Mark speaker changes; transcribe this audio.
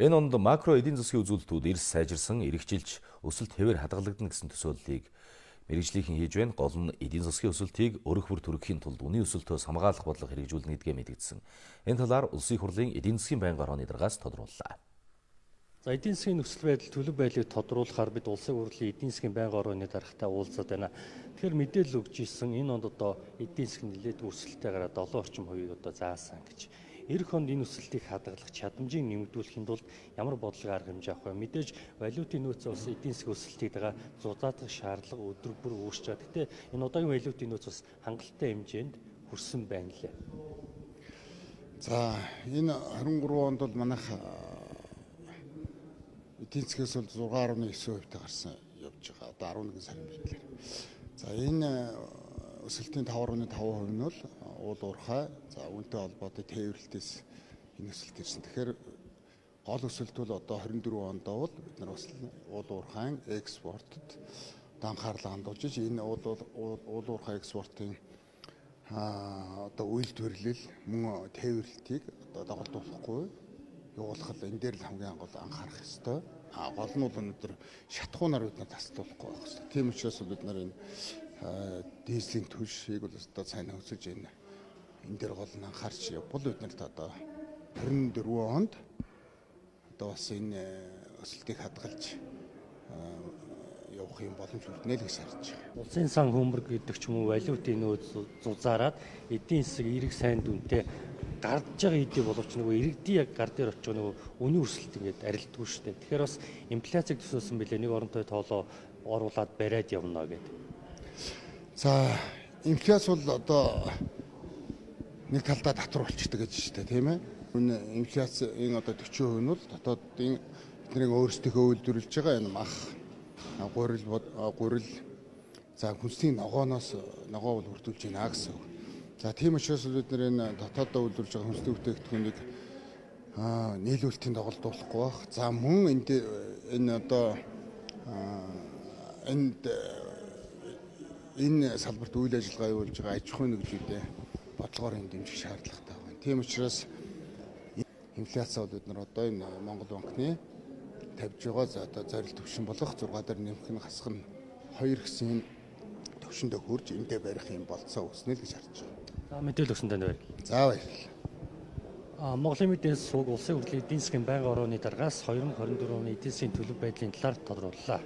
Speaker 1: Энэ онд макро эдийн засгийн үзүүлэлтүүд эрс сайжирсан, эргэжилж, өсөлт хэвээр хадгалагдана гэсэн төсөөллийг мэргэжлийнхэн хийж байна. Гол нь эдийн засгийн өсөлтийг өрөх бүр төрөхийн тулд үнийн өсөлтөөс хамгаалах бодлого хэрэгжүүлнэ гэдгээ мэдгдсэн. Энэ талаар Улсын их хурлын эдийн засгийн байнгын орооны даргаас тодрууллаа.
Speaker 2: За эдийн засгийн нөхцөл байдал төлөв байдлыг тодруулахаар бид Улсын хурлын эдийн засгийн байнгын орооны даргатай уулзаад байна. Тэгэхээр мэдээлэл өгч ирсэн энэ онд одоо эдийн засгийн нэлээдгүй өсөлттэй гараад 7 орчим хувийг одоо заасан гэж. Ирэх онд энэ өсөлтийг хадгалах чадамжийг нэмэгдүүлэхийн тулд ямар бодлого арга хэмжээ авах вэ? Мэдээж валютын нөөц бас эдийн засгийн өсөлтийг дагаа зузаадах шаардлага өдөр бүр үүсч байгаа. Гэхдээ энэ удаагийн валютын нөөц бас хангалттай хэмжээнд хүрсэн байна лээ.
Speaker 3: За энэ 23 онд бол манайх эдийн засгээс бол 6.9% гарсан явж байгаа. Одоо 11 сарын байдлаар. За энэ өсөлтийн 5.5% нь бол уул уурхай, за үүнтэй холбоотой тээвэрлэлтээс энэ өсөлт ирсэн. Тэгэхээр гол өсөлт бол одоо 24 ондоо бол бид нар бас уул уурхайн экспортод анхаарлаа хандуулж энэ уул уурхай экспортын одоо үйлдвэрлэл мөн тээвэрлэлтийг одоо доголдуулахгүй явуулах энэ дээр л хамгийн гол анхаарах ёстой. Гол нь бол өнөөдөр шатхуунаар бид нар таслуулахгүй байх ёстой. Тийм учраас бид нар энэ дизелийн түлшийг бол одоо сайн хөсөж энэ дээр гол нь анхаарч явбал бид нарт одоо 24 онд одоо бас энэ өсөлтийг хадгалж явах юм боломж үлднэ л гэж харж байгаа.
Speaker 2: Улсын сан хөмбөр гэдэг ч юм уу валютын нөөц зузаараад эдийн засаг эрэг сайн дүнтэй гардж байгаа хэдий боловч нөгөө иргэдийн яг гар дээр очиж нөгөө үнийн өсөлт ингээд арилддаг шүү дээ. Тэгэхээр бас инфляцийг төсөөсөн билээ нэг оронтой тоолоо оруулаад бариад явна гэдэг.
Speaker 3: За инфляц бол одоо нэг талдаа татвар болчдөг гэж байна тийм ээ. Энэ инфляц энэ одоо 40% нь бол дотоодын бидний өөрсдийнхөө үйлдвэрлэж байгаа энэ мах гурил за хүнсний ногоо бол хүртүүлж байна гэсэн үг. За тийм учраас бид нар энэ дотооддоо үйлдвэрлэж байгаа хүнсний бүтээгдэхүүнийг нийлүүлэлтийн доголдуулахгүй байх. За мөн энэ одоо энэ салбарт үйл ажиллагаа явуулж байгаа аж ахуйн нэгжүүдэд бодлогоор энэ дэмжих шаардлагатай байна. Тийм учраас инфляцаа бол бид нар одоо энэ Монгол банкны тавьж байгаа за одоо зорилт төвшин болох 6 дээр нэмэх нь хасах нь 2 гэсэн төвшөндөө хүрж эндээ барих юм болцоо үүснэ л гэж харж байгаа.
Speaker 2: За мэдээлэл өгсөн танд баярлалаа.
Speaker 3: За баярлалаа.
Speaker 2: Монголын мэдээс сувг Улсын хурлын эдийн засгийн байнгын орооны даргаас 2024 оны эдийн засгийн төлөв байдлын талаар тодрууллаа.